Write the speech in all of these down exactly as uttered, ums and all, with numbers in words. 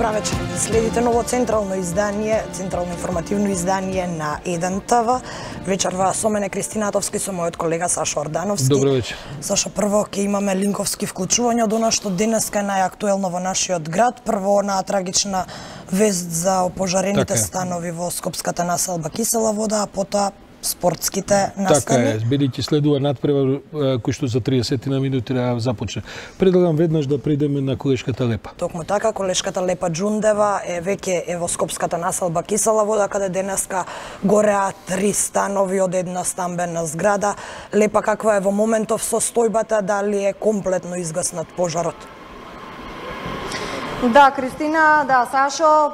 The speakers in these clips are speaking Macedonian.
Добра вечер. Следите ново централно издание, централно информативно издание на еден ТВ. Вечерва со мене Кристина Атовски, со мојот колега Сашо Ордановски. Добро вечер. Сашо, прво ќе имаме линковски вклучувања од она што денеска е најактуелно во нашиот град. Прво на трагична вест за опожарените така станови во Скопската населба Кисела вода, а потоа спортските настани. Така е, бидејќи следува надпревар кој што за триесет на минути да започне. Предлагам веднаш да придеме на колешката Лепа. Токму така, колешката Лепа Џундева е веќе е во Скопската населба Кисела вода, каде денеска гореа три станови од една стамбена зграда. Лепа, каква е во моментов состојбата, дали е комплетно изгаснат пожарот? Да, Кристина, да, Сашо,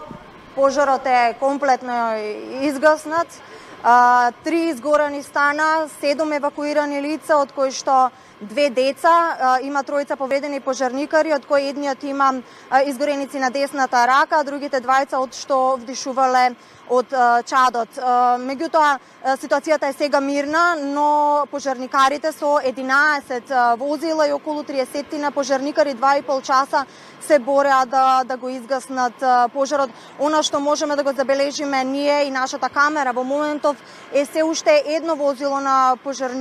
пожарот е комплетно изгаснат. А, три изгорени стана, седум евакуирани лица, од кои што две деца, а, има тројца повредени пожарникари, од кои едниот има а, изгореници на десната рака, а другите двајца од што вдишувале од а, чадот. А, меѓутоа, ситуацијата е сега мирна, но пожарникарите со единаесет возила и околу триесет на пожарникари два и пол часа се бореа да, да го изгаснат пожарот. Она што можеме да го забележиме ние и нашата камера во моментов е се уште едно возило на пожар,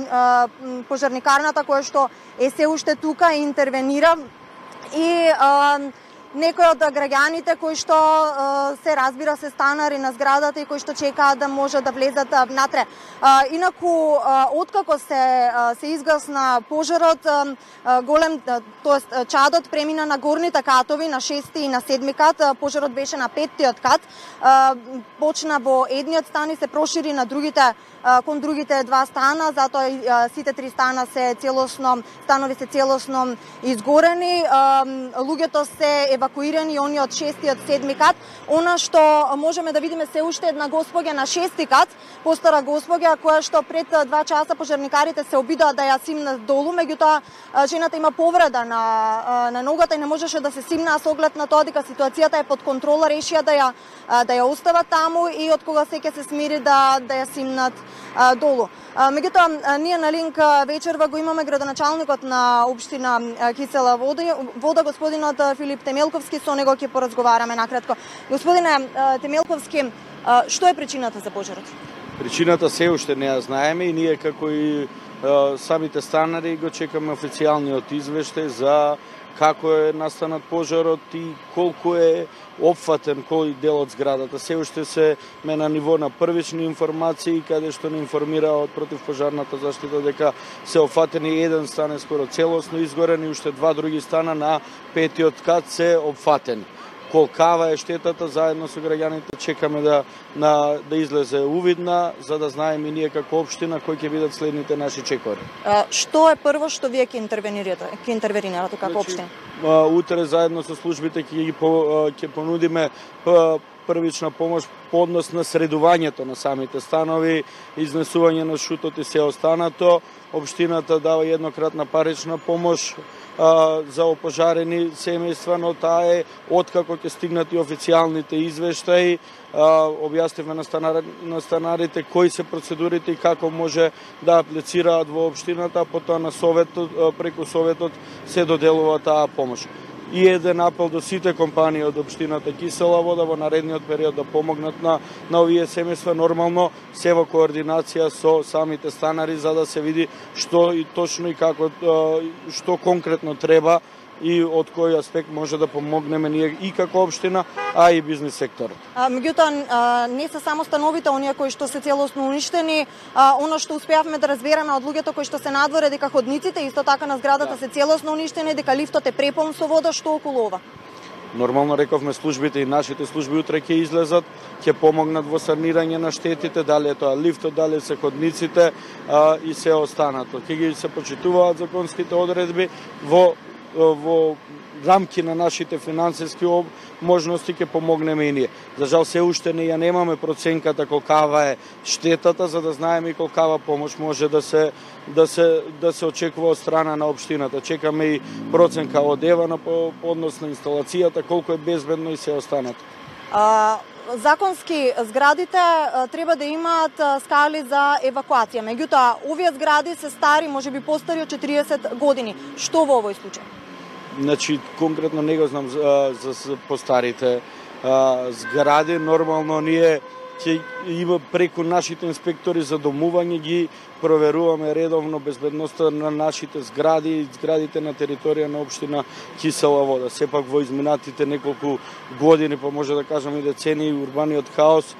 пожарникарната кое што е се уште тука и интервенира и а, некои од граѓаните кои што се разбира се станари на зградата и кои што чекаат да може да влезат внатре. Инаку, откако се се изгасна пожарот, голем, тоест чадот премина на горните катови, на шести и на седми кат, пожарот беше на петтиот кат, почна во едниот стан и се прошири на другите кон другите два стана, затоа сите три стана се целосно, станови се целосно изгорени, луѓето се евакуирани и они од шестиот, седми кат. Она што можеме да видиме се уште една госпоѓа на шести кат, постара госпоѓа која што пред два часа пожарникарите се обидоа да ја симнат долу, меѓутоа жената има повреда на на ногата и не можеше да се симна, со оглед на тоа дека ситуацијата е под контрола, решија да ја да ја остават таму и од кога се ќе се смири да да ја симнат а, долу. А, меѓутоа, ние на линк вечерва го имаме градоначалникот на општина Кисела вода, вода господинот Филип Темелковски, со него ќе поразговараме накратко. Господине Темелковски, што е причината за пожарот? Причината се уште не ја знаеме и ние како и самите станари го чекаме официјалниот извештај за како е настанат пожарот и колку е опфатен кој дел од зградата. Се уште се ме на ниво на првични информации, каде што не информира од противпожарната заштита дека се опфатени еден стан е скоро целосно изгорен и уште два други стана на петиот кат се опфатени. Колкава е штетата, заедно со граѓаните чекаме да на да излезе увидна, за да знаеме и ние како општина кои ќе бидат следните наши чекори. А, што е прво што вие ќе интервенирате, ќе интервенирате како општина? Значи, утре заедно со службите ќе ги ќе понудиме првична помош по однос на средувањето на самите станови, изнесување на шутот и се останато. Општината дава еднократна парична помош а, за опожарени семејства, но таа е откако ќе стигнат и официјалните извештаи. А, објаснивме на, станар, на станарите кои се процедурите и како може да аплицираат во општината, а потоа на советот, преку советот се доделува таа помош. И еден апел до сите компании од општината Кисела вода во наредниот период да помогнат на, на овие семејства, нормално се во координација со самите станари, за да се види што и точно и како, што конкретно треба и од кој аспект може да помогнеме ние и како општина, а и бизнис секторот. Меѓутоа, не се само становите оние кои што се целосно уништени, а, оно што успеавме да разбереме од луѓето кои што се надворе дека ходниците исто така на зградата да. се целосно уништени, дека лифтот е препон со вода, што околу ова? Нормално рековме службите и нашите служби утре ќе излезат, ќе помогнат во санирање на штетите, дали е тоа лифтот, дали се ходниците а, и се останато. Ќе ги се почитуваат законските одредби во во рамки на нашите финансиски можности ќе помогнеме и ние. За жал се уште не ја немаме проценката колкава е штетата, за да знаеме и колкава помош може да се да се да се очекува од страна на општината. Чекаме и проценка од ЕВА на по, по однос на инсталацијата, колку е безбедно и се останато. А... Законски зградите треба да имаат скали за евакуација. Меѓутоа, овие згради се стари, можеби постари од четириесет години. Што во овој случај? Значи, конкретно не го знам за, за постарите а, згради. Нормално ние ќе има преку нашите инспектори за домување ги проверуваме редовно безбедноста на нашите згради и зградите на територија на општина Кисела Вода. Сепак во изминатите неколку години, па може да кажеме и децении, урбаниот хаос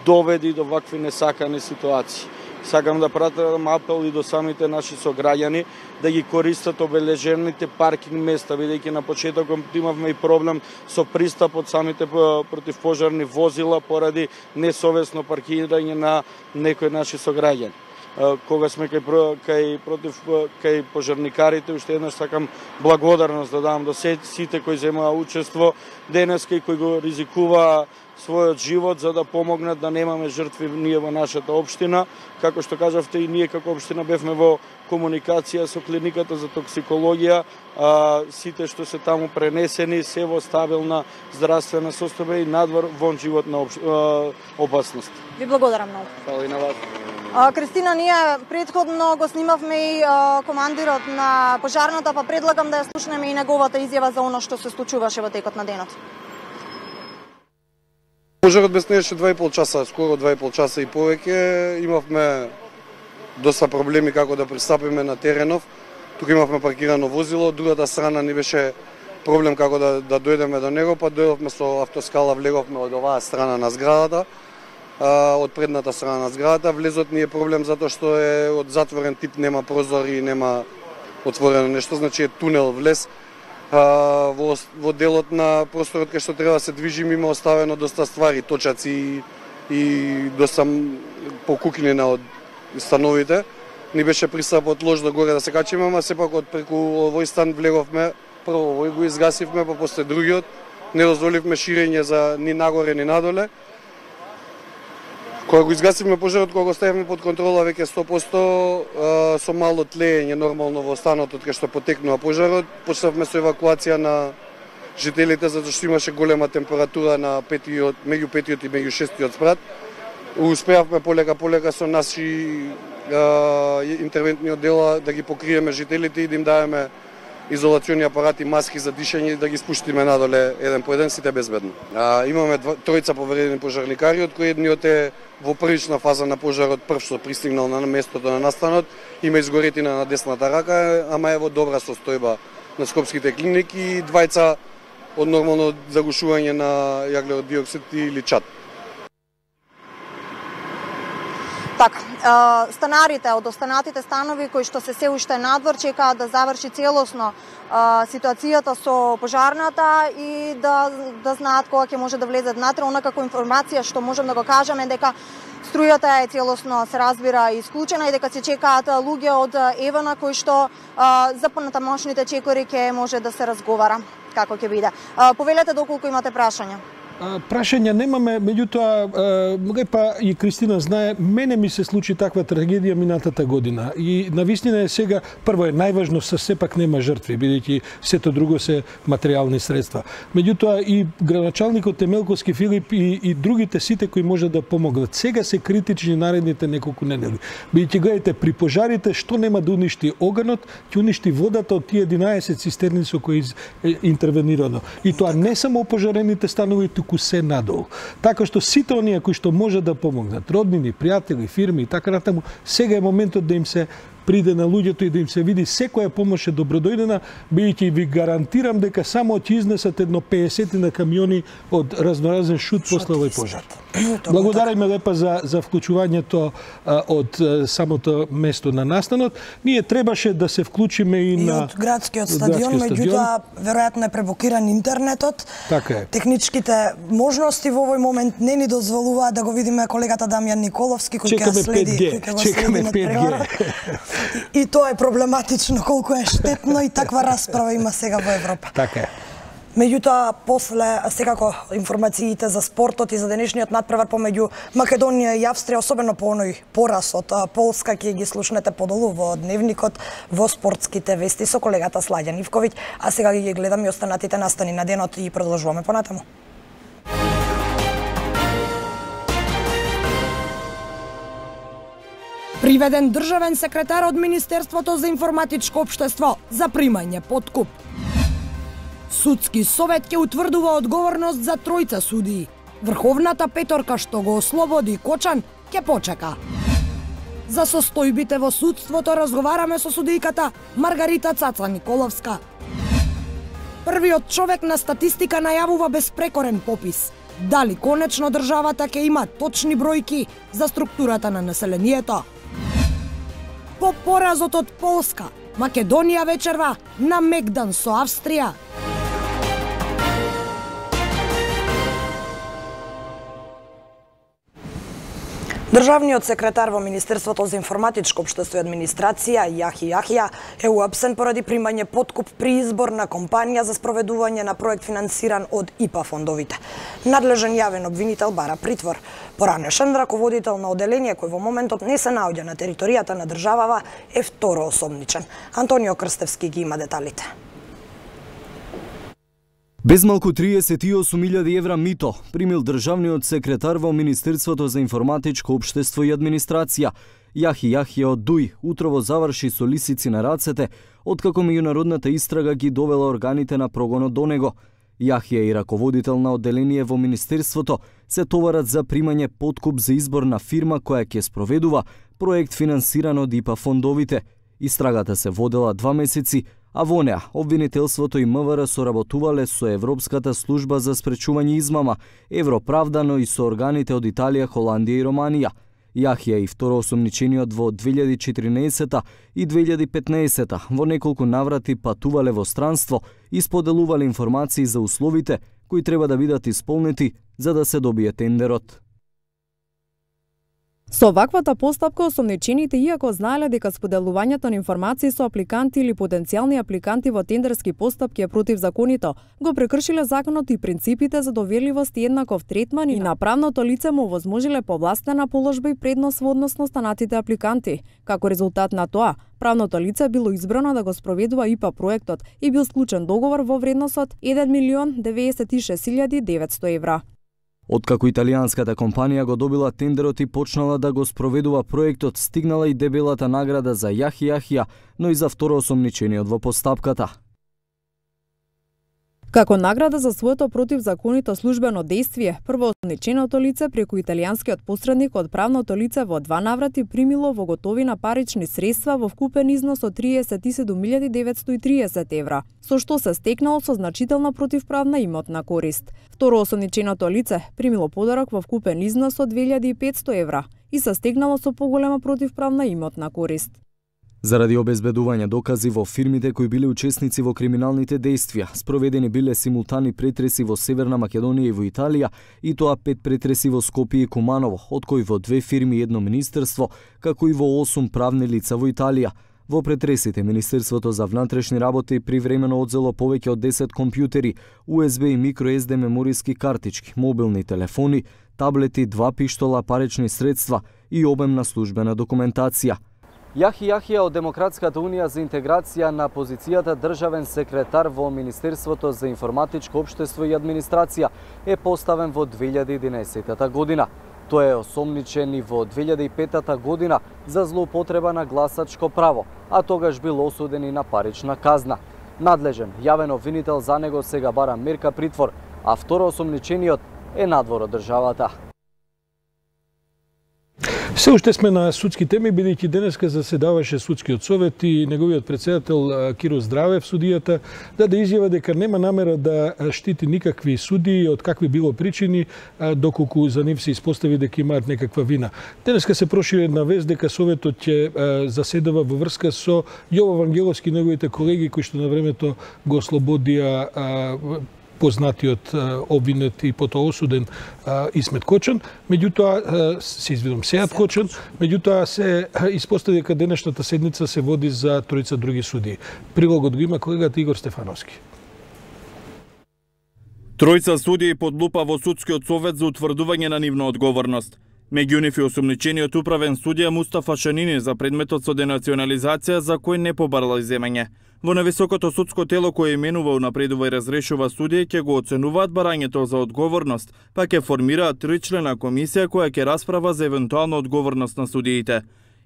доведи до вакви несакани ситуации. Сакам да пратам апел и до самите наши сограѓани да ги користат обележените паркинг места, бидејќи на почетокот имавме и проблем со пристап од самите противпожарни возила поради несовесно паркирање на некои наши сограѓани. Кога сме кај, кај против кај пожарникарите, уште еднаш сакам благодарност да дам до сите кои земаа учество денеска и кои го ризикуваа својот живот за да помогнат да немаме жртви ние во нашата општина. Како што кажавте, и ние како општина бевме во комуникација со клиниката за токсикологија, а, сите што се таму пренесени се во стабилна здравствена состојба и надвор вон живот на общ... опасност. Ви благодарам многу. Фала и на вас. А, Кристина, ние претходно го снимавме и а, командирот на пожарната, па предлагам да ја слушнеме и неговата изјава за оно што се случуваше во текот на денот. Пожарот беснееше два и пол часа, скоро два и пол часа и повеќе. Имавме доста проблеми како да пристапиме на теренов. Тука имавме паркирано возило, од другата страна ни беше проблем како да, да дојдеме до него, па дојдовме со автоскала, влеговме од оваа страна на зградата, а, од предната страна на зградата. Влезот ни е проблем затоа што е од затворен тип, нема прозори, нема отворено нешто, значи е тунел влез. А, во, во делот на просторот кај што треба да се движим има оставено доста ствари, точаци и, и доста покукнина од становите. Ни беше пристапот лош до горе да се качиме, ама сепак од преку овој стан влеговме, прво овој го изгасивме, па после другиот, не дозволивме ширење за ни нагоре ни надоле. Кога го изгасивме пожарот, кога го ставивме под контрола веќе сто посто со мало тлење нормално во станот од кај што потекнува пожарот, почнавме со евакуација на жителите затоа што имаше голема температура на петиот, меѓу петиот и меѓу шестиот спрат. Успеавме полека полека со наши а, интервентни оддела да ги покриеме жителите и да им даваме изолациони апарати, маски за дишење и да ги спуштиме надоле еден по еден сите безбедно. А, имаме два, тројца поверени пожарникари, од кои едниот е во првична фаза на пожарот, прв што пристигнал на местото на настанот, има изгоретина на десната рака, ама е во добра состојба на скопските клиники и двајца од нормално загушување на јаглерод диоксид или чад. Така, станарите од останатите станови кои што се се уште надвор чекаат да заврши целосно ситуацијата со пожарната и да да знаат кога ќе може да влезат внатре. Онакако информација што можем да го кажеме дека струјата е целосно се разбира исклучена и дека се чекаат луѓе од Евана кои што за понатамошните чекори ќе може да се разговара како ќе биде. Повелете доколку имате прашања. Прашања немаме, меѓутоа, па и Кристина знае, мене ми се случи таква трагедија минатата година. И навистина е сега, прво е најважно, се сепак нема жртви, бидејќи сето друго се материјални средства. Меѓутоа и градоначалникот Темелковски Филип и, и другите сите кои може да помогнат. Сега се критични наредните неколку недели. Бидејќи гледате, при пожарите што нема да уништи оганот, ќе уништи водата од тие единаесет цистерни со кои е интервенирано. И тоа не само опожарените станови, туку се надолу. Така што сите оние кои што може да помогнат, роднини, пријатели, фирми и така натаму, сега е моментот да им се приде на луѓето и да им се види секоја помош е добродојдена, бидејќи ви гарантирам дека само ќе изнесат едно пеесет на камиони од разноразен шут после овој пожар. Благодариме лепа за за вклучувањето а, од а, самото место на настанот. Ние требаше да се вклучиме и, и на од градскиот стадион, меѓутоа веројатно е пребокиран интернетот. Така е. Техничките можности во овој момент не ни дозволуваат да го видиме колегата Дамјан Николовски кој ќе следи, кој ќе го следи на превара. И тоа е проблематично, колку е штетно и таква расправа има сега во Европа. Така е. Меѓутоа, после, секако, информациите за спортот и за денешниот надпревар помеѓу Македонија и Австрија, особено по оној пораз од Полска, ќе ги слушнете подолу во дневникот во спортските вести со колегата Сладјан Ивковиќ, а сега ги гледаме и останатите настани на денот и продолжуваме понатаму. Приведен државен секретар од Министерството за информатичко општество за примање подкуп. Судски совет ќе утврдува одговорност за тројца судии. Врховната петорка што го ослободи Кочан ќе почека. За состојбите во судството разговараме со судијката Маргарита Цаца Николовска. Првиот човек на статистика најавува безпрекорен попис. Дали конечно државата ќе има точни бројки за структурата на населението? По поразот од Полска, Македонија вечерва на мегдан со Австрија. Државниот секретар во Министерството за информатичко општество и администрација Јахи Јахија е уапсен поради примање подкуп при избор на компанија за спроведување на проект финансиран од И П А фондовите. Надлежен јавен обвинител бара притвор. Поранешен раководител на оделение кој во моментот не се наоѓа на територијата на државава е второосомничен. Антонио Крстевски ги има деталите. Без малку триесет и осум илјади евра мито примил државниот секретар во Министерството за информатичко општество и администрација. Јахи Јахија од Дуј утрово заврши со лисици на рацете, откако меѓународната истрага ги довела органите на прогонот до него. Јахија и раководител на одделение во Министерството се товарат за примање подкуп за избор на фирма која ќе спроведува проект финансиран од И П А фондовите. Истрагата се водела два месеци, а во неа обвинителството и М В Р соработувале со Европската служба за спречување измама, Европравдано и со органите од Италија, Холандија и Романија. Јахија и второосомничениот во две илјади и четирнаесета и две илјади и петнаесета во неколку наврати патувале во странство и споделувале информации за условите кои треба да бидат исполнети за да се добие тендерот. Со ваквата постапка осомничените, иако знаеле дека споделувањето на информации со апликанти или потенцијални апликанти во тендерски постапки е противзаконито, го прекршиле законот и принципите за доверливост и еднаков третман и на правното лице му возможиле повластена положба и предност во однос на останатите апликанти. Како резултат на тоа, правното лице било избрано да го спроведува И П А проектот и бил склучен договор во вредност од еден милион деветдесет и шест илјади деветсто евра. Откако италијанската компанија го добила тендерот и почнала да го спроведува проектот, стигнала и дебелата награда за Јахи Јахија, но и за второосомничениот во постапката. Како награда за своето противзаконито службено дејствие, првоосомниченото лице преку италијанскиот посредник од правното лице во два наврати примило во готовина парични средства во вкупен износ од триесет и седум илјади деветсто и триесет евра, со што се стекнало со значителна противправна имотна корист. Второосомниченото лице примило подарок во вкупен износ од две илјади и петсто евра и се стекнало со поголема противправна имотна корист. Заради обезбедување докази во фирмите кои биле учесници во криминалните дејствија, спроведени биле симултани претреси во Северна Македонија и во Италија, и тоа пет претреси во Скопје и Куманово, од кои во две фирми и едно министерство, како и во осум правни лица во Италија. Во претресите Министерството за внатрешни работи привремено одзело повеќе од десет компјутери, У Ес Б и микро Ес Ди мемориски картички, мобилни телефони, таблети, два пиштола, парични средства и обемна службена документација. Јахи Јахија од Демократската унија за интеграција на позицијата државен секретар во Министерството за информатичко општество и администрација е поставен во две илјади и единаесета година. Тој е осомничен и во две илјади и петата година за злоупотреба на гласачко право, а тогаш бил осуден и на парична казна. Надлежен јавен обвинител за него сега бара мерка притвор, а второосомничениот е надвор од државата. Се уште сме на судски теми, бидејќи денеска заседаваше судскиот совет и неговиот претседател Киро Здравев, судијата, даде изјава дека нема намера да штити никакви судии од какви било причини, доколку за нив се испостави дека имаат некаква вина. Денеска се прошири една вест дека советот ќе заседава во врска со Јово Вангеловски и неговите колеги кои што на времето го ослободија познатиот обвинет и потоа осуден Исмет Кочан, меѓутоа се извинувам Сејат Кочан, меѓутоа се испостави дека денешната седница се води за тројца други судии. Прилогот го има колегата Игор Стефановски. Тројца судии под лупа во судскиот совет за утврдување на нивна одговорност. Меѓу нив и осомничениот управен судија Мустафа Шанини за предметот со денационализација за кој не побарала иземање. Во нависокото судско тело кое именува, унапредува и разрешува судија ќе го оценуваат барањето за одговорност, па ќе формираат тричлена комисија која ќе расправа за евентуална одговорност на судиите.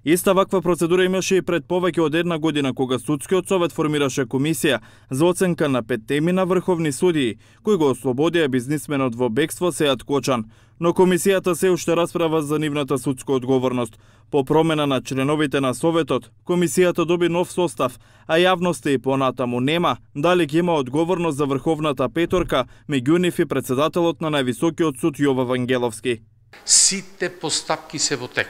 Иста ваква процедура имаше и пред повеќе од една година, кога Судскиот совет формираше комисија за оценка на пет теми на врховни судии, кои го ослободија бизнисменот во бегство Сеат Кочан. Но комисијата се уште расправа за нивната судска одговорност. По промена на членовите на Советот, комисијата доби нов состав, а јавноста и понатаму нема дали ќе има одговорност за врховната петорка, меѓу нив и председателот на највисокиот суд Јова Вангеловски. Сите постапки се во тек.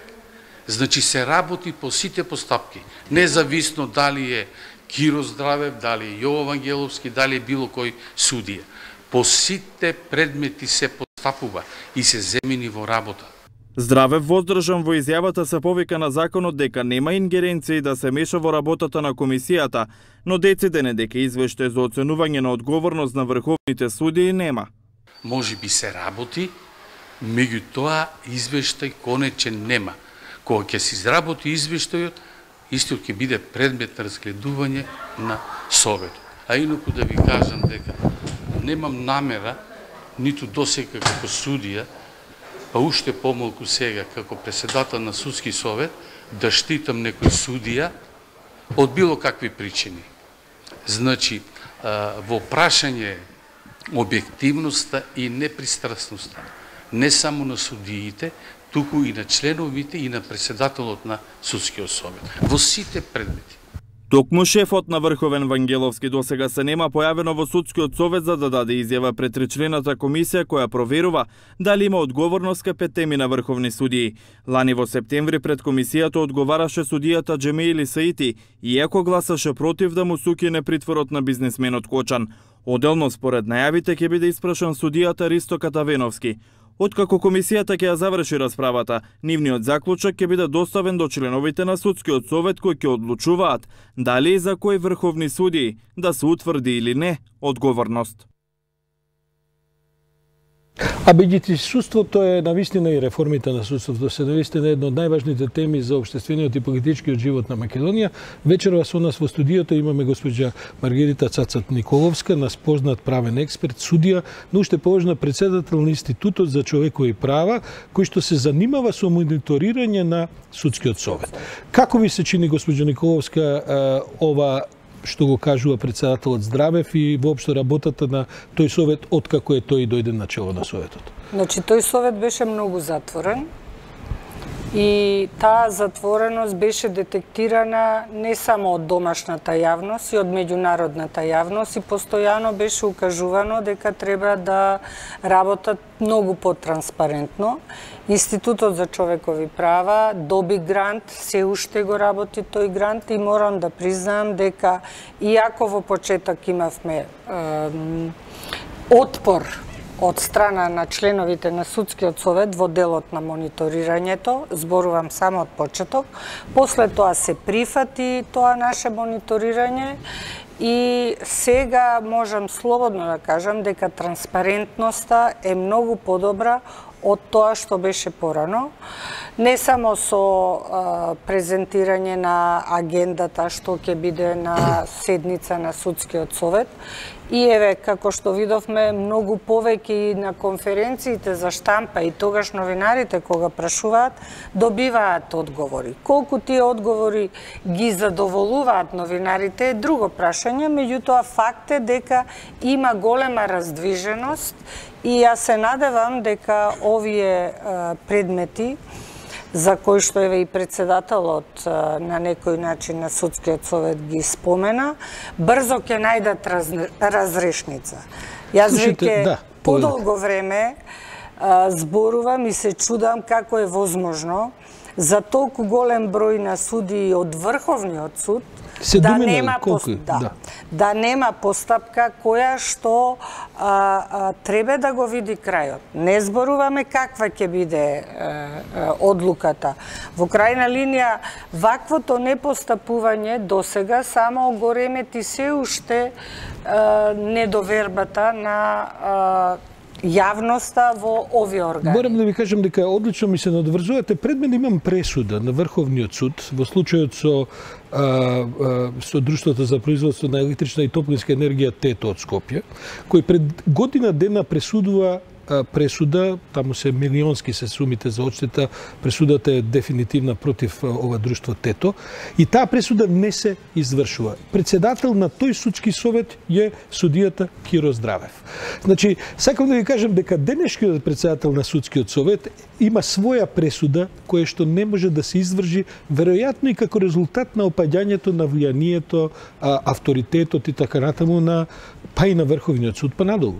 Значи се работи по сите постапки, независно дали е Киро Здравев, дали е Јово Вангеловски, дали е било кој судија. По сите предмети се постапува и се земени во работа. Здравев воздржан во изјавата се повика на законот дека нема ингеренции да се меша во работата на комисијата, но дециден е дека извештај за оценување на одговорност на врховните судии нема. Може би се работи, меѓутоа извештај конечен нема. Кога ќе се изработи извештајот, истиот ќе биде предмет на разгледување на Советот. А инаку да ви кажам дека немам намера, ниту досега како судија, па уште помалку сега како председател на Судски совет, да штитам некој судија од било какви причини. Значи, во прашање објективноста и непристрасноста, не само на судиите, туку и на членовите и на председателот на Судскиот совет. Во сите предмети. Токму шефот на Врховен Вангеловски досега се нема појавено во Судскиот совет за да даде изјава пред тричлената комисија која проверува дали има одговорност кај пет теми на врховни судии. Лани во септември пред комисијата одговараше судијата Џемеили Саити, иако гласаше против да му сукине притворот на бизнисменот Кочан. Оделно според најавите ќе биде испрашан судијата Ристо Катавеновски. Откако комисијата ќе ја заврши расправата, нивниот заклучок ќе биде доставен до членовите на Судскиот совет кои ќе одлучуваат дали и за кои врховни судии да се утврди или не одговорност. А бидејќи судството е навистина и реформите на судството се навистина една од најважните теми за општествениот и политичкиот живот на Македонија, вечерва со нас во студиото имаме госпоѓа Маргарита Цацат Николовска, нас познат правен експерт, судија, но уште поважна председател на Институтот за човекови права, кој што се занимава со мониторирање на Судскиот совет. Како ви се чини, госпоѓа Николовска, ова што го кажува председателот Здравев и воопшто работата на тој совет откако е тој дојде на чело на советот? Значи, тој совет беше многу затворен и таа затвореност беше детектирана не само од домашната јавност и од меѓународната јавност и постојано беше укажувано дека треба да работат многу потранспарентно. Институтот за човекови права доби грант, се уште го работи тој грант и морам да признаам дека иако во почеток имавме е, отпор од страна на членовите на Судскиот совет во делот на мониторирањето, зборувам само од почеток, после тоа се прифати тоа наше мониторирање и сега можам слободно да кажам дека транспарентноста е многу подобра од тоа што беше порано, не само со а, презентирање на агендата што ќе биде на седница на Судскиот совет, и еве, како што видовме, многу повеќе и на конференциите за штампа и тогаш новинарите кога прашуваат, добиваат одговори. Колку тие одговори ги задоволуваат новинарите е друго прашање, меѓутоа факт е дека има голема раздвиженост и јас се надевам дека овие а, предмети за кои што еве и председателот на некој начин на Судскиот совет ги спомена, брзо ќе најдат раз, разрешница. Јас веќе да, подолго време а, зборувам и се чудам како е возможно за толку голем број на судии од Врховниот суд се да думинали, нема колку, пост... да, да. да нема постапка која што а, а, треба да го види крајот. Не зборуваме каква ќе биде а, а, одлуката. Во крајна линија, ваквото непостапување досега само го ремети се уште а, недовербата на а, јавноста во овие органи. Морам да ви кажам дека одлично ми се надврзувате. Пред мен имам пресуда на Врховниот суд во случајот со а, а, со Друштвото за производство на електрична и топлинска енергија ТЕТО од Скопје, кој пред година дена пресудува пресуда, таму се милионски се сумите за одштета, пресудата е дефинитивна против ова друштво Тето и таа пресуда не се извршува. Председател на тој судски совет е судијата Киро Здравев. Значи, сакам да ви кажам дека денешниот председател на судскиот совет има своја пресуда која што не може да се изврши веројатно и како резултат на опаѓањето на влијанието, авторитетот и така натаму на па и на Врховниот суд па надолу.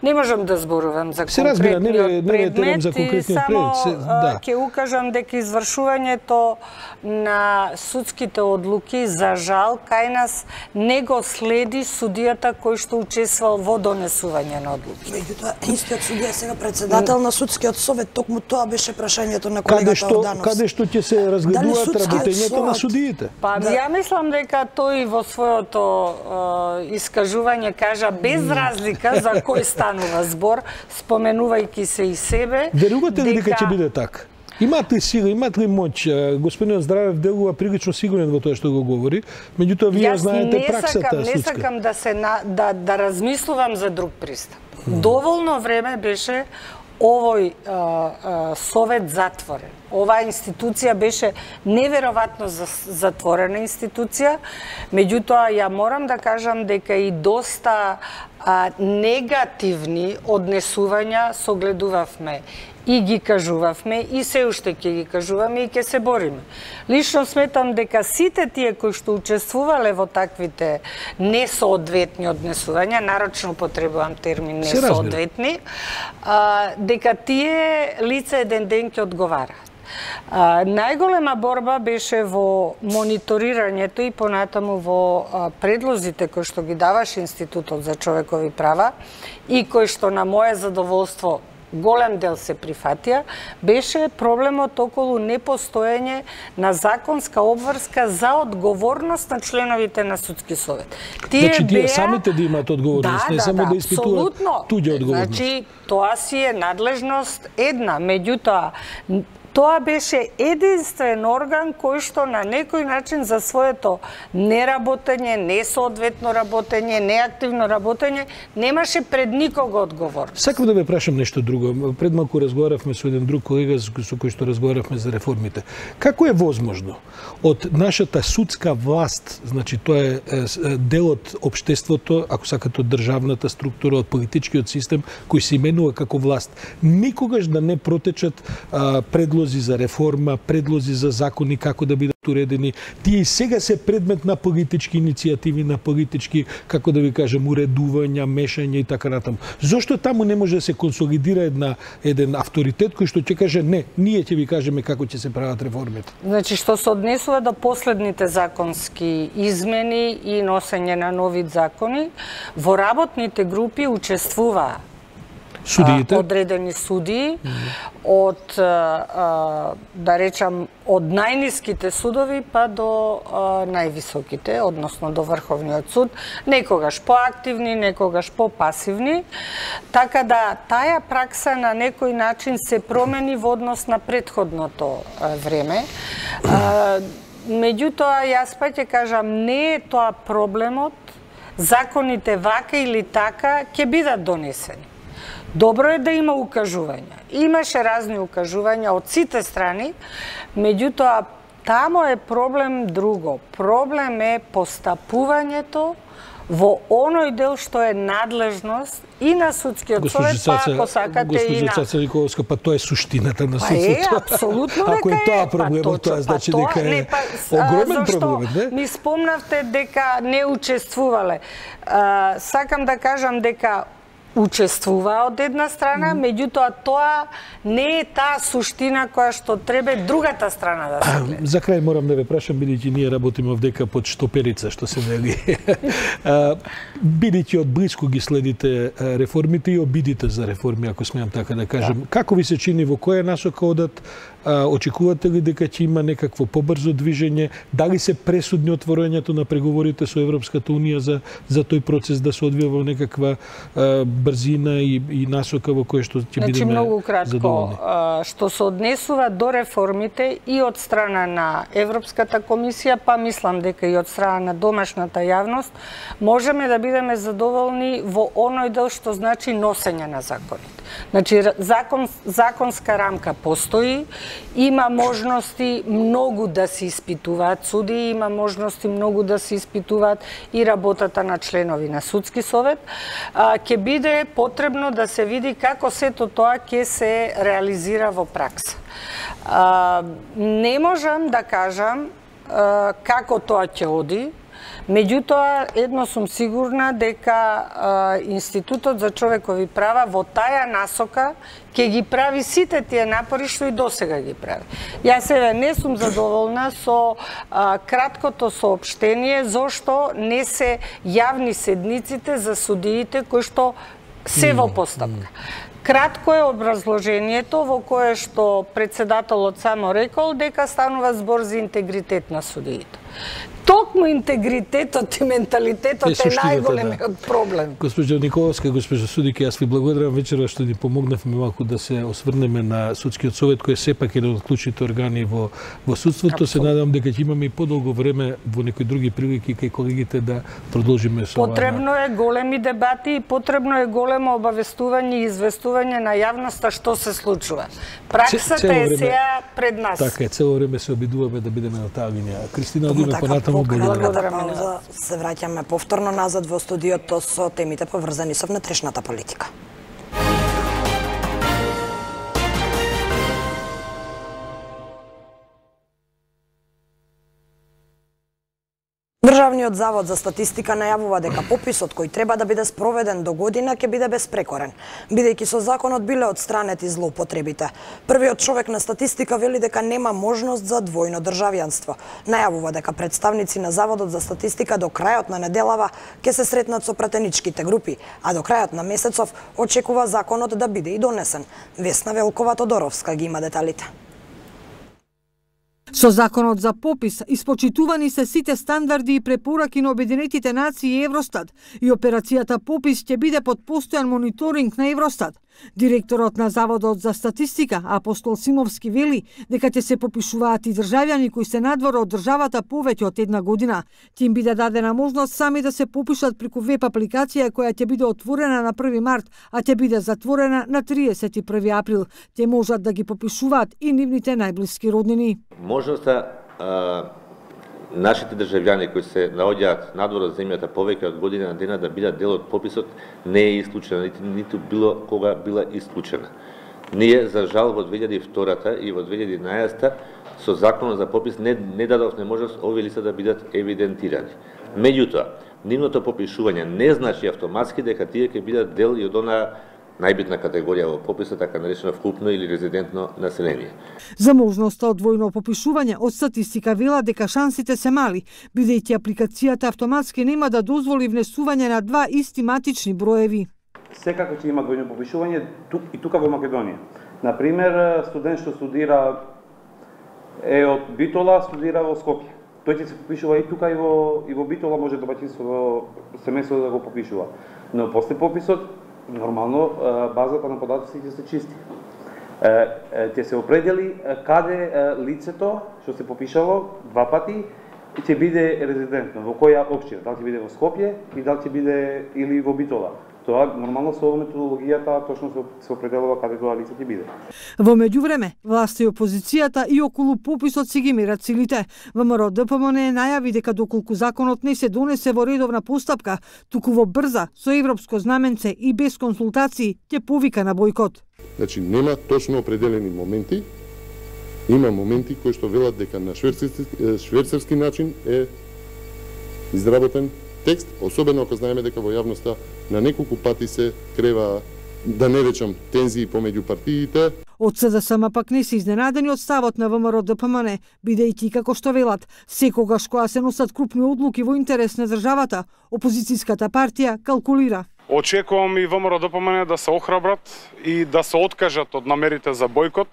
Не можам да зборувам за се разбира, не, не, не предмет за и само да. ќе укажам дека извршувањето на судските одлуки за жал кај нас не го следи судијата кој што учествувал во донесување на одлуки. Меѓутоа, истиот судија сега председател на судскиот совет, токму тоа беше прашањето на колегата Ордановски. Каде што ќе се разгледуваат работењето на судиите? Па да. Ја мислам дека тој во своето е, искажување кажа без разлика за кој станува збор, споменувајќи се и себе. Верувате ли дека ќе биде така? Имате ли сила, имате ли моќ? Господинот Здравев делува прилично сигурен во тоа што го говори, меѓутоа вие Јас знаете праксата судска. Јас не сакам да се на, да да размислувам за друг пристап. Mm. Доволно време беше овој а, а, совет затворен. Оваа институција беше неверојатно затворена институција, меѓутоа ја морам да кажам дека и доста а, негативни однесувања согледувавме и ги кажувавме и се уште ќе ги кажуваме и ќе се бориме. Лично сметам дека сите тие кои што учествувале во таквите несоодветни однесувања, нарочно потребувам термин несоодветни, а, дека тие лица еден ден ќе одговараат. А, најголема борба беше во мониторирањето и понатаму во а, предлозите кои што ги даваше Институтот за човекови права и кои што на моје задоволство голем дел се прифатија, беше проблемот околу непостоење на законска обврска за одговорност на членовите на судски совет. Тие значи, тие беа... самите да имаат одговорност, да, не да, само да, да испитуваат туѓа одговорност. Значи, тоа си е надлежност една, меѓутоа, тоа беше единствен орган кој што на некој начин за своето неработење, несоодветно работење, неактивно работење, немаше пред никого одговорност. Сакам да ве прашам нешто друго. Пред малку разговаравме со еден друг колега со кој што разговаравме за реформите. Како е возможно од нашата судска власт, значи тоа е дел од општеството, ако сакате од државната структура, од политичкиот систем кој се именува како власт, никогаш да не протечат а, предлози за реформа, предлози за закони како да бидат уредени. Тие и сега се предмет на политички иницијативи, на политички, како да ви кажем, уредувања, мешање и така натаму. Зошто таму не може да се консолидира една еден авторитет кој што ќе каже не, ние ќе ви кажеме како ќе се прават реформите? Значи што се однесува до последните законски измени и носење на нови закони, во работните групи учествуваа судиите, одредени судии од, да речам, од најниските судови па до највисоките, односно до Врховниот суд, некогаш поактивни, некогаш попасивни, така да таа пракса на некој начин се промени во однос на претходното време. Меѓутоа, јас па ќе кажам, не е тоа проблемот, законите вака или така ќе бидат донесени. Добро е да има укажувања. Имаше разни укажувања од сите страни, меѓутоа тамо е проблем друго. Проблем е постапувањето во оној дел што е надлежност и на судскиот совет, па ако сакате и на... Госпожа Цаца Николовска, па тоа е суштината на судството. Па е, апсолутно дека е. Ако е тоа проблемот, тоа значи дека е огромен проблем, не? Ми спомнавте дека не учествувале. Сакам да кажам дека учествува од една страна, mm. меѓутоа тоа не е таа суштина која што треба другата страна да се гледа. За крај морам да ве прашам, бидејќи ние работиме овдека под штоперица, што се вели. Бидејќи од близко ги следите реформите и обидите за реформи, ако смеам така да кажем, да. Како ви се чини, во која насока одат? Очекувате ли дека ќе има некакво побрзо движење? Дали се пресудни отворањето на преговорите со Европската унија за за тој процес да се одвива во некаква а, брзина и, и насока во која што ќе значи, бидеме многу кратко, задоволни? А, што се однесува до реформите и од страна на Европската комисија, па мислам дека и од страна на домашната јавност, можеме да бидеме задоволни во оној дел што значи носење на законите. Значи, закон, законска рамка постои, има можности многу да се испитуваат суди, има можности многу да се испитуваат и работата на членови на судски совет. А, ќе биде потребно да се види како сето тоа ќе се реализира во пракса. А, не можам да кажам а, како тоа ќе оди, меѓутоа едно сум сигурна дека а, Институтот за човекови права во таја насока ќе ги прави сите тие напори што и досега ги прави. Јас еве не сум задоволна со а, краткото соопштение зошто не се јавни седниците за судиите кои што се во постапка. Кратко е образложението во кое што председателот само рекол дека станува збор за интегритет на судиите. Токму интегритетот и менталитетот е, е најголемиот да. проблем. Госпожо Николовска, госпожо судике, јас ви благодарам вечера што ни помогнавме малку да се осврнеме на судскиот совет кој е сепак еден од клучните органи во во судството. Абсолютно. Се надевам дека ќе имаме и подолго време во некои други прилики кај колегите да продолжиме со ова. Потребно е големи дебати и потребно е големо обавестување и известување на јавноста што се случува. Праксата е сега пред нас. Така е, цело време се обидуваме да бидеме на таа линија. Кристина, одиме така, понатаму. Благодарам. Пауза, се враќаме повторно назад во студиото со темите поврзани со внатрешната политика. Државниот завод за статистика најавува дека пописот кој треба да биде спроведен до година ќе биде безпрекорен, бидејќи со законот биле отстранети злоупотребите. Првиот човек на статистика вели дека нема можност за двојно државјанство. Најавува дека представници на Заводот за статистика до крајот на неделава ќе се сретнат со пратеничките групи, а до крајот на месецов очекува законот да биде и донесен. Весна Велкова-Тодоровска ги има деталите. Со законот за попис испочитувани се сите стандарди и препораки на Обединетите нации и Евростат и операцијата попис ќе биде под постојан мониторинг на Евростат. Директорот на Заводот за статистика Апостол Симовски вели дека ќе се попишуваат и државјани кои се надвор од државата повеќе од една година. Ќе им биде дадена можност сами да се попишат преку веб апликација која ќе биде отворена на први март, а ќе биде затворена на триесет и први април. Те можат да ги попишуваат и нивните најблиски роднини. Можноста а, нашите државјани кои се наоѓаат надвор од земјата повеќе од година дена да бидат дел од пописот не е исклучена, ниту, ниту било кога била исклучена. Ние, за жал, во две илјади и втора и во две илјади и еднаесетта со законот за попис не, не дадовме можност овие лица да бидат евидентирани. Меѓутоа, нивното попишување не значи автоматски дека тие ќе бидат дел и од онаа најбитна категорија во пописот, така наречено вкупно или резидентно население. За можноста од двојно попишување од статистика вела дека шансите се мали, бидејќи апликацијата автоматски нема да дозволи внесување на два исти матични броеви. Секако ќе има двојно попишување и тука во Македонија. Например, студент што студира е од Битола, студира во Скопје. Тој ќе се попишува и тука и во и во Битола, може домаќинство семејство да го попишува. Но после пописот нормално базата на податоци ќе се чисти. Ќе се определи каде лицето што се попишало два пати ќе биде резидентно, во која општина, дали ќе биде во Скопје и дали ќе биде или во Битола. Тоа нормално со методологијата точно се определува каде тоа лице ќе биде. Во меѓувреме, власта и опозицијата и околу пописот си ги мерат силите. ВМРО Д П М Н најави дека доколку законот не се донесе во редовна постапка, туку во брза, со европско знаменце и без консултации, ќе повика на бојкот. Значи, нема точно определени моменти, има моменти кои што велат дека на швейцарски, швейцарски начин е изработен текст, особено ако знаеме дека во јавноста на неколку пати се крева, да не речам, тензии помеѓу партиите. Од С Д С М пак не се изненадени од ставот на ВМРО Д П М Н, бидејќи како што велат, секогаш кога се носат крупни одлуки во интерес на државата, опозицијската партија калкулира. Очекувам и ВМРО Д П М Н да се охрабрат и да се откажат од намерите за бојкот.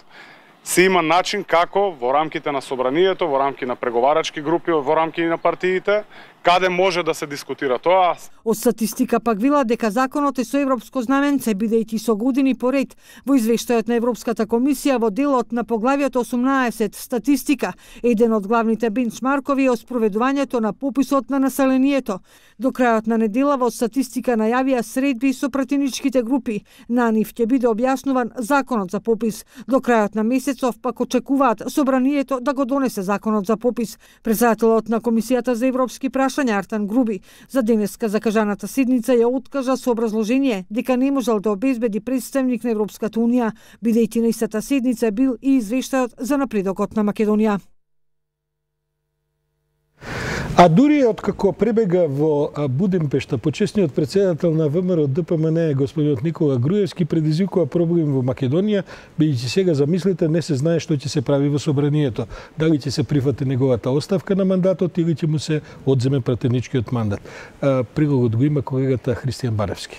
Се има начин како во рамките на собранието, во рамки на преговарачки групи, во рамки на партиите, каде може да се дискутира тоа. Од статистика пак вела дека законот е со европско знаменце, бидејќи со години поред во извештајот на Европската комисија во делот на поглавието осумнаесет статистика, еден од главните бенчмаркови е спроведувањето на пописот на населението. До крајот на недела во статистика најавија средби со пратеничките групи. На нив ќе биде објаснуван законот за попис. До крајот на месецов пак очекуваат собранието да го донесе законот за попис. Председателот на Комисијата за европски прашања Артан Груби за денеска закажаната седница ја откажа со образложение дека не можел да обезбеди представник на Европската унија, бидејќи на истата седница бил и извештајот за напредокот на Македонија. А дури откако пребега во Будимпешта, почесниот председател на ВМРО Д П М Н, господинот Никола Груевски, предизвикува проблем во Македонија, бидејќи сега замислите не се знае што ќе се прави во собранието. Дали ќе се прифати неговата оставка на мандатот или ќе му се одземе пратеничкиот мандат. Прилогот го има колегата Христијан Баревски.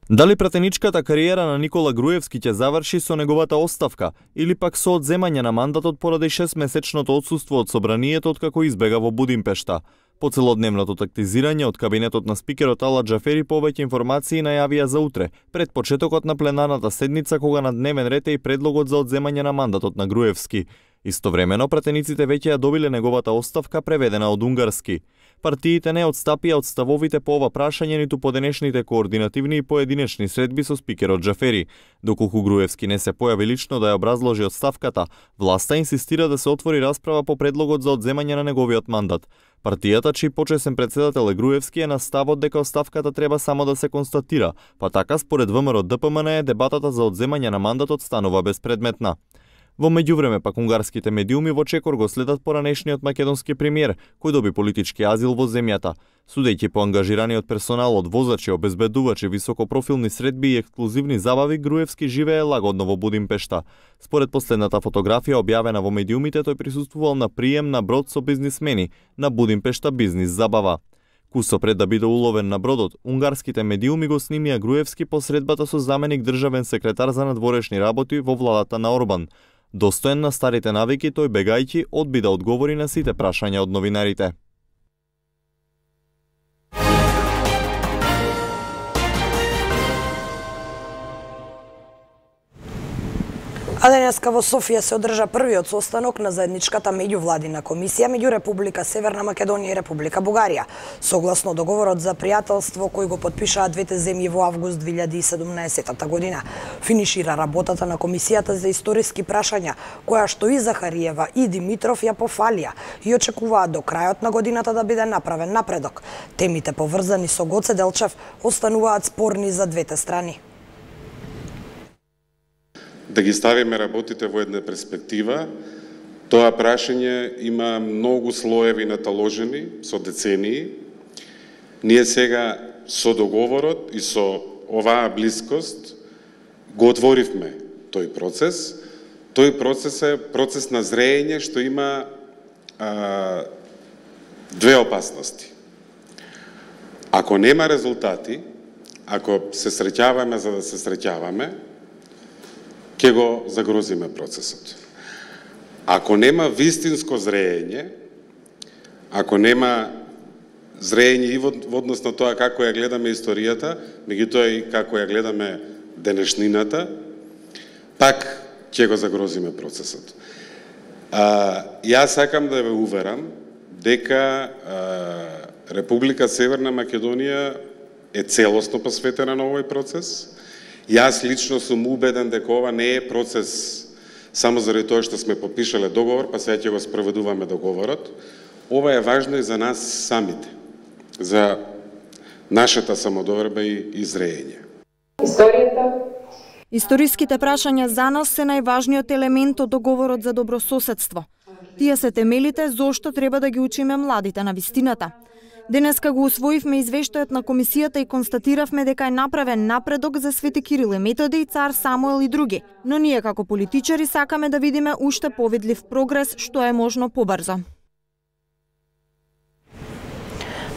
Дали пратеничката кариера на Никола Груевски ќе заврши со неговата оставка или пак со одземање на мандатот поради шестмесечното отсуство од собранието откако избега во Будимпешта? По целодневното тактизирање од кабинетот на спикерот Ала Џафери повеќе информации најавија за утре, пред почетокот на пленарната седница кога на дневен ред е и предлогот за одземање на мандатот на Груевски. Истовремено пратениците веќе ја добиле неговата оставка преведена од унгарски. Партиите не одстапија од ставовите по ова прашање ниту по денешните координативни и поединечни средби со спикерот Џафери. Доколку Груевски не се појави лично да ја образложи оставката, власта инсистира да се отвори расправа по предлогот за одземање на неговиот мандат. Партијата, чиј почесен председател е Груевски, е на ставот дека оставката треба само да се констатира, па така според ВМРО Д П М Н дебатата за одземање на мандатот станува безпредметна. Во меѓувреме пак унгарските медиуми во чекор го следат поранешниот македонски премиер, кој доби политички азил во земјата. Судејќи по ангажираниот персонал од возачи, обезбедувачи, високопрофилни средби и ексклузивни забави, Груевски живее лагодно во Будимпешта. Според последната фотографија објавена во медиумите, тој присуствувал на прием на брод со бизнисмени на Будимпешта бизнис забава. Кусо пред да биде уловен на бродот, унгарските медиуми го снимија Груевски по средбата со заменик државен секретар за надворешни работи во владата на Орбан. Достоен на старите навики, тој бегајќи одби да одговори на сите прашања од новинарите. А денеска во Софија се одржа првиот состанок на заедничката меѓувладина комисија меѓу Република Северна Македонија и Република Бугарија. Согласно договорот за пријателство кој го потпишаа двете земји во август две илјади и седумнаесета година, финишира работата на комисијата за историски прашања, која што и Захариева и Димитров ја пофалија и очекуваат до крајот на годината да биде направен напредок. Темите поврзани со Гоце Делчев остануваат спорни за двете страни. Да ги ставиме работите во една перспектива, тоа прашање има многу слоеви наталожени со децении. Ние сега со договорот и со оваа блискост го отворивме тој процес. Тој процес е процес на зреење што има а, две опасности. Ако нема резултати, ако се среќаваме за да се среќаваме, ќе го загрозиме процесот. Ако нема вистинско зреење, ако нема зреење и во однос на тоа како ја гледаме историјата, меѓутоа и како ја гледаме денешнината, пак ќе го загрозиме процесот. А, јас сакам да ве уверам дека а, Република Северна Македонија е целосно посветена на овој процес. Јас лично сум убеден дека ова не е процес само заради тоа што сме подпишале договор, па сега ќе го спроведуваме договорот. Ова е важно и за нас самите, за нашата самодоверба и, и зреење. Историјата Историските прашања за нас се најважниот елемент од договорот за добрососедство. Тие се темелите зошто треба да ги учиме младите на вистината. Денеска го усвоивме извештајот на комисијата и констатиравме дека е направен напредок за Свети Кирил и Методи, Цар Самуел и други, но ние како политичари сакаме да видиме уште повидлив прогрес што е можно побрзо.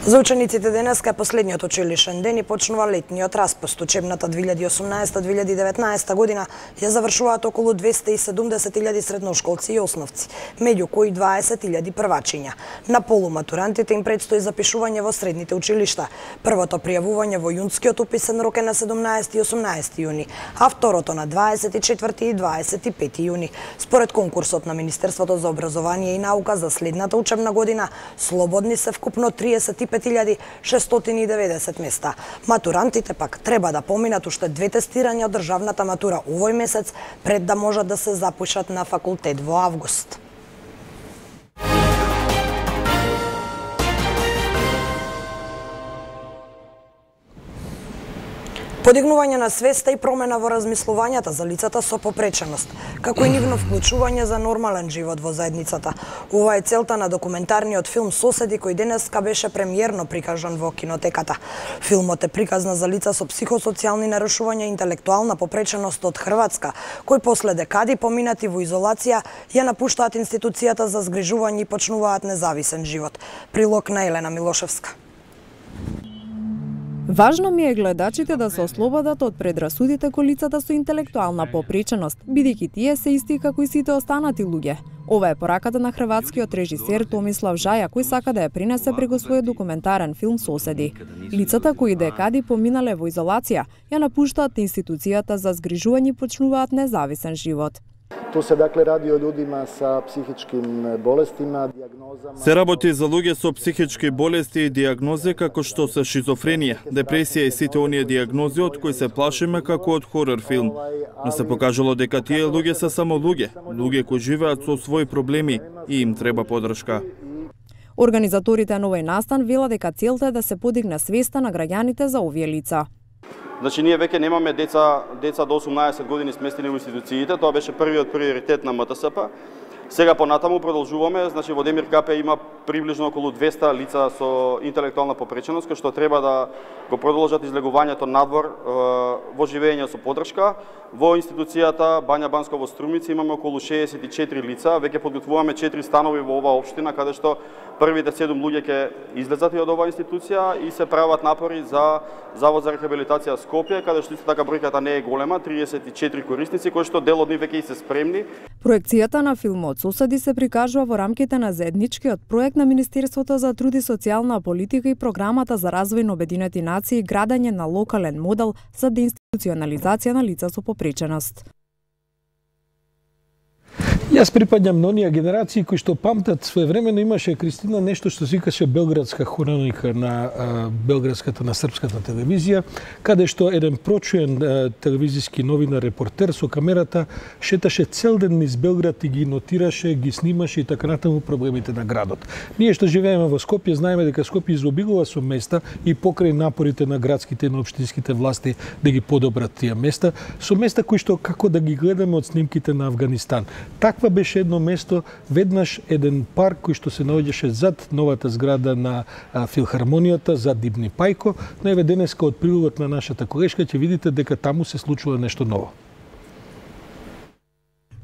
За учениците денеска е последниот училишен ден и почнува летниот распуст. Учебната две илјади и осумнаесета две илјади и деветнаесета година ја завршуваат околу двесте и седумдесет илјади средношколци и основци, меѓу кои дваесет илјади првачиња. На полуматурантите им предстои запишување во средните училишта. Првото пријавување во јунскиот уписен рок е на седумнаесети и осумнаесети јуни, а второто на дваесет и четврти и дваесет и пети јуни. Според конкурсот на Министерството за образование и наука за следната учебна година, слободни се вкупно триесет и пет илјади шестстотини и деветдесет места. Матурантите пак треба да поминат уште две тестирања од државната матура овој месец пред да можат да се запишат на факултет во август. Подигнување на свеста и промена во размислувањата за лицата со попреченост, како и нивно вклучување за нормален живот во заедницата. Ова е целта на документарниот филм Соседи, кој денеска беше премиерно прикажан во кинотеката. Филмот е приказна за лица со психосоцијални нарушувања и интелектуална попреченост од Хрватска, кои после декади поминати во изолација ја напуштаат институцијата за згрижување и почнуваат независен живот. Прилог на Елена Милошевска. Важно ми е гледачите да се ослободат од предрасудите кон лицата со интелектуална попреченост, бидејќи тие се исти како и сите останати луѓе. Ова е пораката на хрватскиот режисер Томислав Жаја, кој сака да ја принесе преку својот документарен филм Соседи. Лицата кои декади поминале во изолација, ја напуштаат институцијата за згрижување и почнуваат независен живот. Ту се дакле ради о људима са психичким болестима, дијагнозама. Се работи за луѓе со психички болести и дијагнози како што се шизофренија, депресија и сите оние дијагнози од кои се плашиме како од хорор филм. Но се покажало дека тие луѓе се само луѓе, луѓе кои живеат со своји проблеми и им треба поддршка. Организаторите на овој настан велат дека целта е да се подигне свеста на граѓаните за овие лица. Значи, ние веќе немаме деца, деца до осумнаесет години сместени во институциите, тоа беше првиот приоритет на М Т С П. Сега понатаму продолжуваме, значи во Демир Капе има приближно околу двесте лица со интелектуална попреченост, кои што треба да го продолжат излегувањето надвор во живење со поддршка. Во институцијата Бања Банско во Струмица имаме околу шеесет и четири лица, веќе подготвуваме четири станови во оваа општина, каде што првите седум луѓе ќе излезат од оваа институција и се прават напори за Завод за рехабилитација Скопје, каде што исто така бројката не е голема, триесет и четири корисници, кои што дел од нив веќе и се спремни. Проекцијата на филмот Соседи се прикажува во рамките на заедничкиот проект на Министерството за труд и социјална политика и програмата за развој на Обединети нации, градење на локален модел за деинституционализација на лица со попреченост. Јас припаѓам на оние генерации кои што памтат своевремено имаше Кристина нешто што се викаше Белградска хроника на а, белградската на српската телевизија, каде што еден прочуен а, телевизиски новинар репортер со камерата шеташе цел ден низ Белград и ги нотираше, ги снимаше и така натаму проблемите на градот. Ние што живееме во Скопје знаеме дека Скопје изобилува со места и покрај напорите на градските и на општинските власти да ги подобрат тие места, со места кои што како да ги гледаме од снимките на Авганистан. Таква беше едно место, веднаш еден парк кој што се наоѓаше зад новата зграда на а, филхармонијата, зад Дибни Пајко, но еве денеска од прилогот на нашата колешка ќе видите дека таму се случува нешто ново.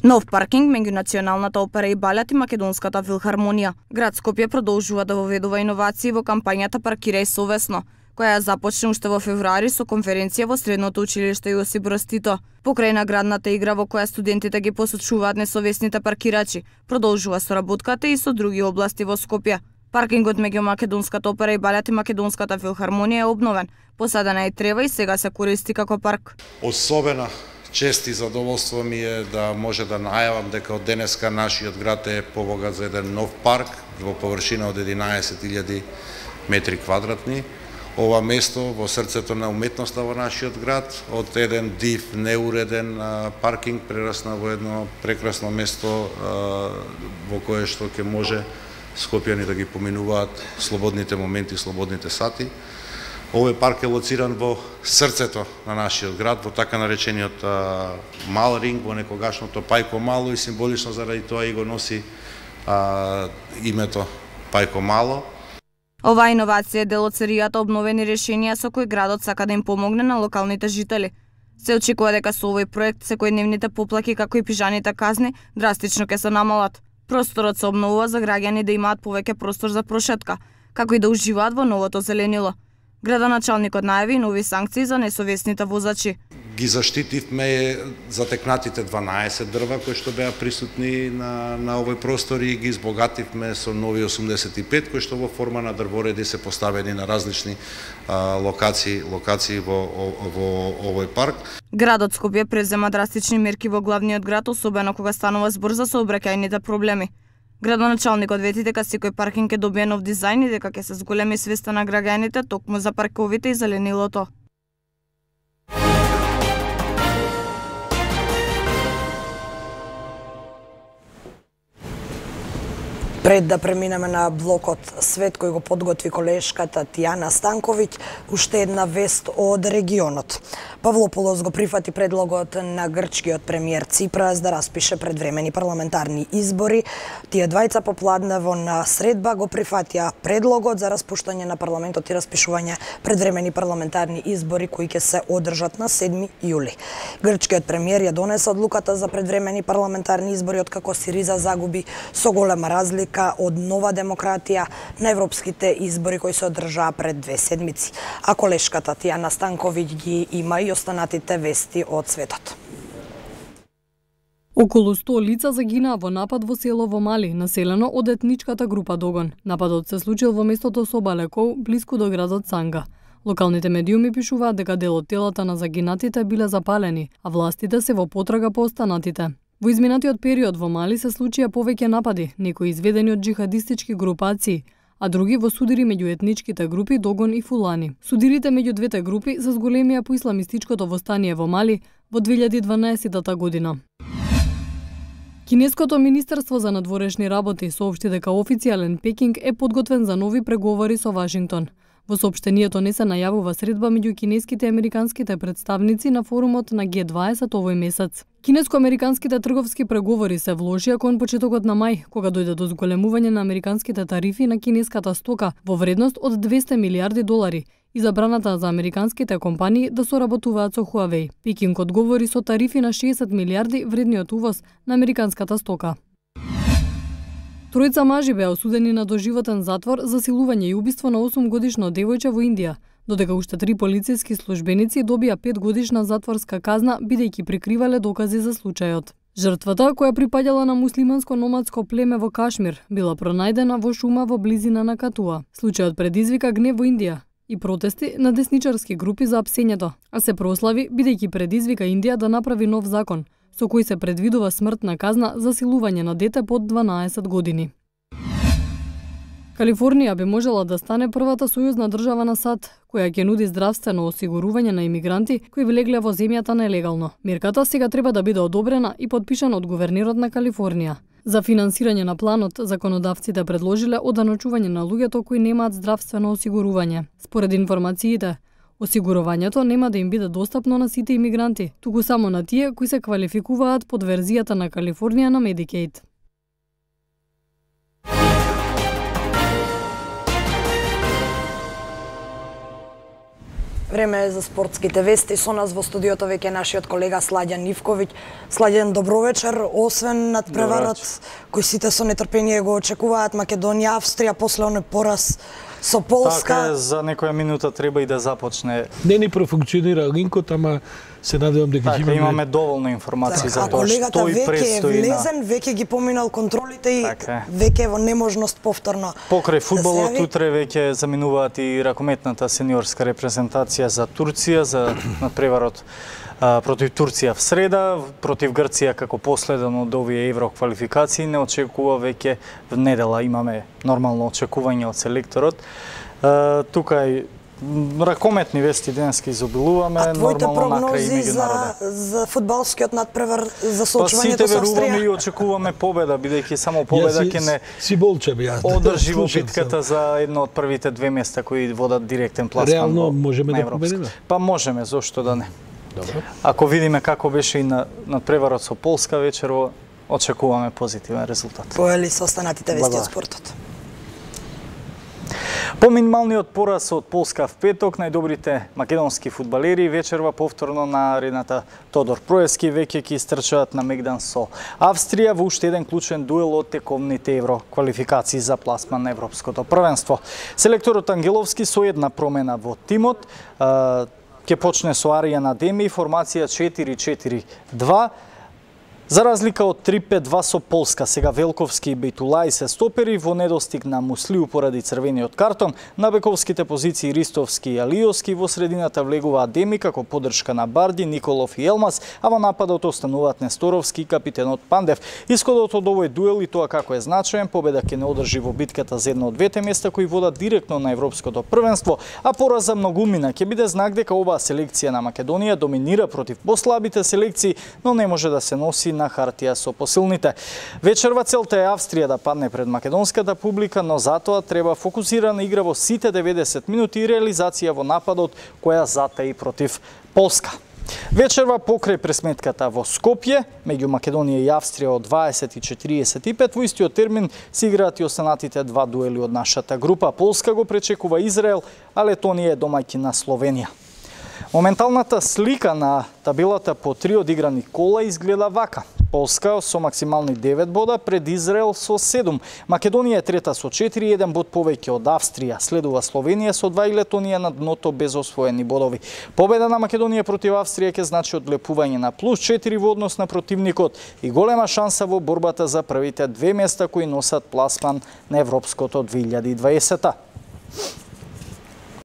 Нов паркинг меѓу Националната опера и балет и Македонската филхармонија. Град Скопје продолжува да воведува иновации во кампањата Паркирај совесно, која ја започна уште во февруари со конференција во Средното училиште Јосип Броз Тито. Покрај наградната игра во која студентите ги посочуваат несовесните паркирачи, продолжува соработката и со други области во Скопје. Паркингот меѓу Македонската опера и балет и Македонската филхармонија е обновен, посадена е трева и сега се користи како парк. Особена чест и задоволство ми е да може да најавам дека од денеска нашиот град е побогат за еден нов парк во површина од единаесет илјади метри квадратни. Ова место во срцето на уметноста во нашиот град, од еден див, неуреден а, паркинг прерасна во едно прекрасно место а, во кое што ќе може скопјани да ги поминуваат слободните моменти, слободните сати. Овој парк е лоциран во срцето на нашиот град, во така наречениот а, мал ринг, во некогашното Пајко Мало и символично заради тоа и го носи а, името Пајко Мало. Оваа иновација е дел од серијата обновени решенија со кои градот сака да им помогне на локалните жители. Се очекува дека со овој проект секојдневните поплаки како и пижаните казни драстично ќе се намалат. Просторот се обновува за граѓани да имаат повеќе простор за прошетка, како и да уживаат во новото зеленило. Градоначалникот најави нови санкции за несовесните возачи. Ги заштитивме затекнатите дванаесет дрва кои што беа присутни на, на овој простор и ги избогативме со нови осумдесет и пет кои што во форма на дрвореди се поставени на различни а, локации, локации во, во овој парк. Градот Скопје презема драстични мерки во главниот град, особено кога станува збор за сообраќајните проблеми. Градоначалникот вети дека секој паркинг ќе добие нов дизајн и дека ќе се зголеми свеста на граѓаните токму за парковите и зеленилото. Пред да преминеме на блокот Свет кој го подготви колешката Тијана Станковиќ, уште една вест од регионот. Павлопулос го прифати предлогот на грчкиот премиер Ципрас да распише предвремени парламентарни избори. Тие двајца попладнево на средба го прифатија предлогот за распуштање на парламентот и распишување предвремени парламентарни избори кои ќе се одржат на седми јули. Грчкиот премиер ја донесе одлуката за предвремени парламентарни избори откако Сириза загуби со голема разлика од Нова демократија на европските избори кои се одржаа пред две седмици. А колешката Тијана Станковиќ ги има и останатите вести од светот. Околу сто лица загинаа во напад во село во Мали, населено од етничката група Догон. Нападот се случил во местото Собалекоу, блиску до градот Санга. Локалните медиуми пишуваат дека дел од телата на загинатите биле запалени, а властите се во потрага по останатите. Во изминатиот период во Мали се случија повеќе напади, некои изведени од джихадистички групации, а други во судири меѓу етничките групи Догон и Фулани. Судирите меѓу двете групи се зголемија по исламистичкото востание во Мали во две илјади и дванаесетта година. Кинеското Министерство за надворешни работи соопшти дека официјален Пекинг е подготвен за нови преговори со Вашингтон. Во соопштението не се најавува средба меѓу кинеските и американските представници на форумот на Г дваесет овој месец. Кинеско-американските трговски преговори се вложија кон почетокот на мај, кога дојде до зголемување на американските тарифи на кинеската стока во вредност од двесте милиарди долари и забраната за американските компании да соработуваат со Huawei. Пекинг одговори со тарифи на шеесет милиарди вредниот увоз на американската стока. Тројца мажи беа осудени на доживотен затвор за силување и убиство на осумгодишно девојче во Индија, додека уште три полициски службеници добија петгодишна затворска казна бидејќи прикривале докази за случајот. Жртвата, која припаѓала на муслиманско номадско племе во Кашмир, била пронајдена во шума во близина на Катуа. Случајот предизвика гнев во Индија и протести на десничарски групи за апсењето, а се прослави бидејќи предизвика Индија да направи нов закон со кој се предвидува смртна казна за силување на дете под дванаесет години. Калифорнија би можела да стане првата сојузна држава на САД, која ќе нуди здравствено осигурување на имигранти кои влегле во земјата нелегално. Мерката сега треба да биде одобрена и подпишана од гувернерот на Калифорнија. За финансирање на планот, законодавците предложиле оданочување на луѓето кои немаат здравствено осигурување. Според информациите, осигурувањето нема да им биде достапно на сите имигранти, туку само на тие кои се квалификуваат под верзијата на Калифорнија на Medicaid. Време е за спортските вести. Со нас во студиото веќе нашиот колега Сладјан Ивковиќ. Сладјан, добро вечер. Освен надпреварот кој сите со нетрпение го очекуваат, Македонија, Австрија, после оној пораз со Полска. Така е, за некоја минута треба и да започне. Не ни профункционира линкот, ама се надевам дека така, имаме... имаме доволно информации за тоа што и престои. А колегата веќе е влезен, на... веќе ги поминал контролите и така, веќе е во неможност повторно. Покрај фудбалот да утре веќе заминуваат и ракометната сениорска репрезентација за Турција, за надпреварот против Турција в среда, против Грција како последен од овие евроквалификации. Не очекува веќе в недела, имаме нормално очекување од селекторот. Тука и ракометни вести денески изобилуваме, нормално накрај и меѓународен. За, за фудбалскиот надпревар, за соочувањето па, со Австрија? Сите веруваме и очекуваме победа, бидејќи само победа ќе не си болче би одржи во битката за едно од првите две места кои водат директен пласман. Реално можеме да победиме? Па можеме, зошто да не. Добро. Ако видиме како беше и на надпреварот со Полска вечерво, очекуваме позитивен резултат. Поели со останатите вести од спортот. По минималниот пораз од Полска в петок, најдобрите македонски фудбалери вечерва повторно на арената Тодор Проевски веќе ќе истрчаат на мегдан со Австрија во уште еден клучен дуел од тековните евро квалификации за пласман на европското првенство. Селекторот Ангеловски со една промена во тимот ќе почне со Аријан Адеми, формација четири четири два. За разлика од три пет два со Полска, сега Велковски и Бејтулај се стопери во недостиг на Муслиу поради црвениот картон, на бековските позиции Ристовски и Алиовски, во средината влегува Адеми како поддршка на Барди, Николов и Елмас, а во нападот остануваат Несторовски и капитенот Пандев. Исходот од овој дуел и тоа како е значаен, победа ќе не одржи во битката за едно од двете места кои водат директно на европското првенство, а пораза многумина ќе биде знак дека оваа селекција на Македонија доминира против послабите селекции, но не може да се носи на хартија со посилните. Вечерва целта е Австрија да падне пред македонската публика, но затоа треба фокусирана игра во сите деветдесет минути и реализација во нападот која затаи против Полска. Вечерва покрај пресметката во Скопје, меѓу Македонија и Австрија од дваесет и четириесет и пет, во истиот термин се играат и останатите два дуели од нашата група. Полска го пречекува Израел, а Летонија е домаќин на Словенија. Моменталната слика на табелата по три одиграни кола изгледа вака. Полска со максимални девет бода пред Израел со седум. Македонија е трета со четири, еден бод повеќе од Австрија. Следува Словенија со два и Летонија на дното без освоени бодови. Победа на Македонија против Австрија ќе значи одлепување на плюс четири во однос на противникот и голема шанса во борбата за првите две места кои носат пласман на европското две илјади и дваесета.